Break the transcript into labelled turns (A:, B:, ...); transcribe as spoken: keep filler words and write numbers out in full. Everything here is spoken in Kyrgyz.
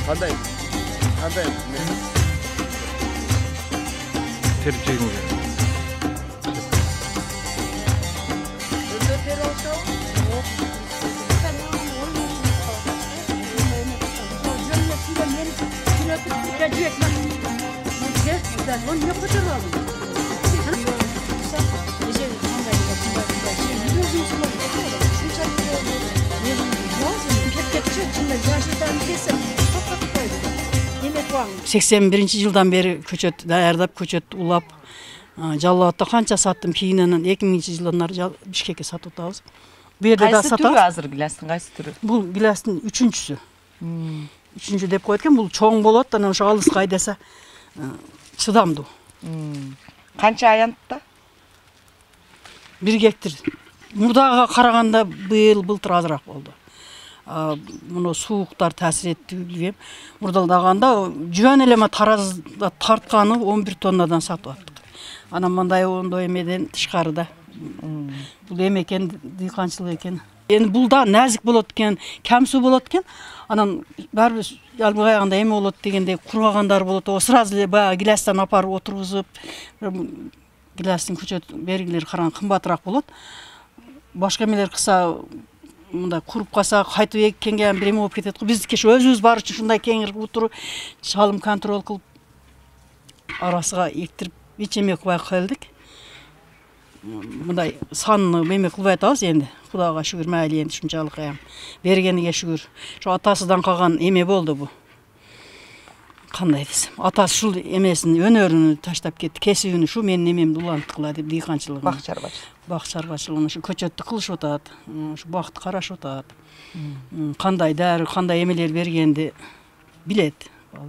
A: Кандай? Кандай?
B: Терип жегим келет.
C: сексен биринчи жылдан бери көчөт даярдап, көчөт улап, Жалал Абадта канча саттым, кийинен эки миңинчи жылдан ары Бишкекке сатып атабыз.
D: Бу жерде да сатабыз. Кайсы түрү азыр гилястын, кайсы түрү?
C: Бул гилястын үчүнчүсү. Үчүнчү деп коет экен, бул чоң болот, анан ошо алыска айдаса чыдамдуу.
D: Канча аянтта?
C: бир гектар. Мурдага караганда быйыл былтыр азыраак болду. Муну сууктар таасир этти билбейм. Мурдалдаганда жөн эле таразда тартканы он бир тоннадан сатып аттык. Анан мындай ондой эмеден тышкарыда. Бул эме экен, дыйканчылык экен. Эми бул да назик болот экен, камсуу болот экен. Анан баары бир албагайганда эме болот дегенде кургагандар болот. О сразу эле баягы гилястан апарып отургузуп, гилястын көчөт бергилери караң кымбатыраак болот. Башка эмелер кылса мындай куруп калса кайтып эккенге бир эме болуп кетет го. Биздики өзүбүз бар үчүн ушундай кеңир утуруп, чалым контроль кылып, арасыга эктирип, эч эме кылбай калдык. Мындай санны эме кылбай атабыз энди. Кудайга шүгүр, майли энди ушунчалык эм. Бергениге шүгүр. Ошо атасыдан калган эме болду бу. Кандай десем, атасы ушул эмесин, өнөрүн таштап кетти, кесибин ушу менин эмемди уланткыла деп дыйканчылыгын.
D: Бак чарбачылык.
C: Бак чарбачылыгын ушу көчөттү кылышып атат, ушу бакты карашып атат. Кандай дары, кандай эмелер бергенди билет.